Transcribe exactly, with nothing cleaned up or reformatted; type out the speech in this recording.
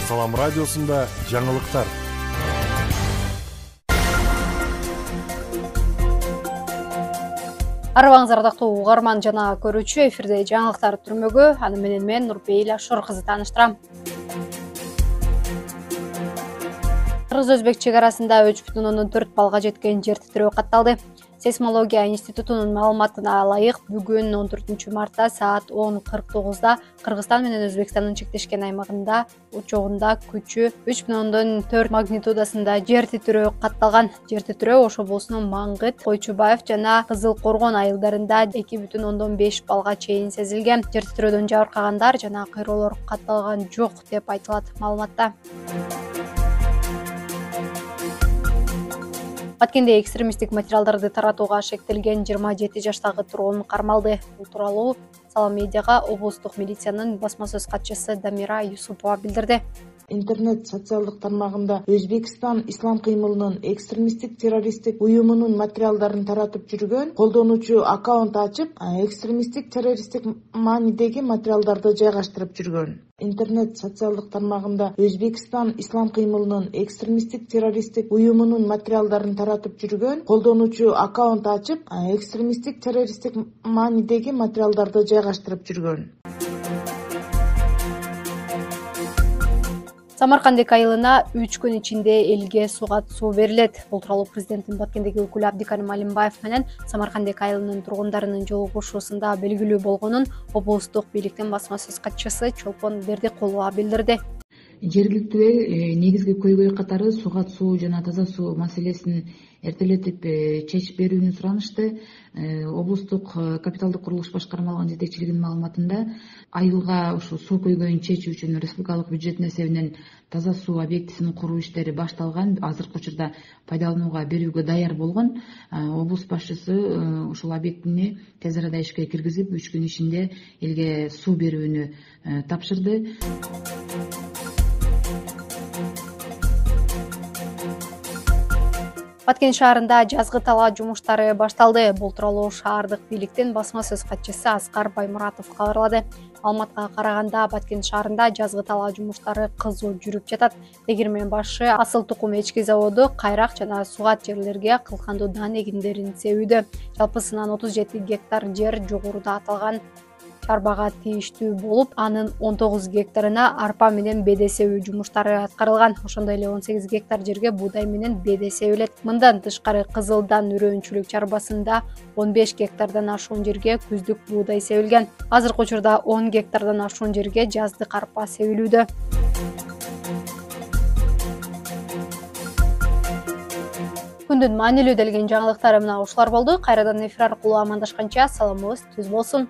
Салам радиосунда жаңылыктар. Арыбаңыздар ардактуу угарман жана көрүүчү, эфирде жаңылыктар түрмөгү. Аны менен мен Нурбейла Шор кызы тааныштырам. Кыргыз-өзбек чек арасында үч бүтүн ондон төрт балга жеткен жер титирөө катталды. Сейсмология институтунун маалыматына ылайык, бүгүн он төртүнчү мартта саат он кырк тогузда Кыргызстан менен Өзбекстандын чектешкен аймагында учогунда күчү үч бүтүн ондон төрт магнитудасында жер титирөө катталган. Жер титирөө Ош облусунун Маңгыт, Койчубаев жана Кызыл Коргон айылдарында эки бүтүн ондон беш балга чейин сезилген. Жер титирөөдөн жабыркагандар жана кыйроолор катталган жок деп айтылат маалыматта. Баткенде экстремисттик материалдарды таратууга шектелген жыйырма жети жаштагы тургун кармалды. Бул тууралуу Салам медиага облустук милициянын басма сөз катчысы Дамира Юсупова билдирди. Интернет социалдык тармагында Өзбекстан ислам кыймылынын экстремисттик террористтик уюмунун материалдарын таратып жүргөн колдонуучу аккаунт ачып, экстремисттик террористтик маанидеги материалдарды жайгаштырып жүргөн. Интернет социалдык тармагында Өзбекстан ислам кыймылынын экстремисттик террористтик уюмунун материалдарын таратып жүргөн колдонуучу аккаунт ачып, экстремисттик террористтик маанидеги материалдарды жайгаштырып жүргөн. Самаркандек айылына үч күн ичинде элге суга суу берилет. Бул тууралуу президенттин Баткендеги өкүлү Абдикарим Алимбаев менен Самаркандек айылынын тургундарынын жолугушуусунда белгилүү болгонун облустук бийликтин басма сөз катчысы Чолпон Бердикулова билдирди. Жергиликтүү эл негизги көйгөй катары суга суу жана таза суу маселесин эртелетип чечип берүүнү суранышты. Облустук капиталдык курулуш башкармалыгынын жетекчилигинин маалыматында айылга ушу суу көйгөйүн чечүү үчүн республикалык бюджеттин эсебинен таза суу объектисин куруу иштери башталган. Азыркы учурда пайдаланууга берүүгө даяр болгон. Облус башчысы ушул объектини тез арада ишке киргизип, үч күн ичинде элге суу берүүнү тапшырды. Баткен шаарында жазгы талаа жумуштары башталды. Бул тууралуу шаардык бийликтин басма сөз катчысы Аскар Баймуратов кабарлады. Маалыматка караганда, Баткен шаарында жазгы талаа жумуштары кызуу жүрүп жатат. Тегирмен башы асыл тукум эчки заводу кайрак жана сугат жерлерге кылкандуу дан эгиндерин себүүдө. Жалпысынан отуз жети гектар жер жогоруда аталган чарбага тийиштүү болуп, анын он тогуз гектарына арпа менен беде себүү жумуштары аткарылган. Ошондой эле он сегиз гектар жерге буудай менен беде себилет. Мындан тышкары Кызылдан үрөөнчүлүк чарбасында он беш гектардан ашуун жерге күздүк буудай себилген. Азыркы учурда он гектардан ашуун жерге жаздык арпа себилүүдө. Күндүн маанилүү делген жаңылыктары мына ушулар болду. Кайрадан эфир аркылуу амандашканча саламыбыз түз болсун.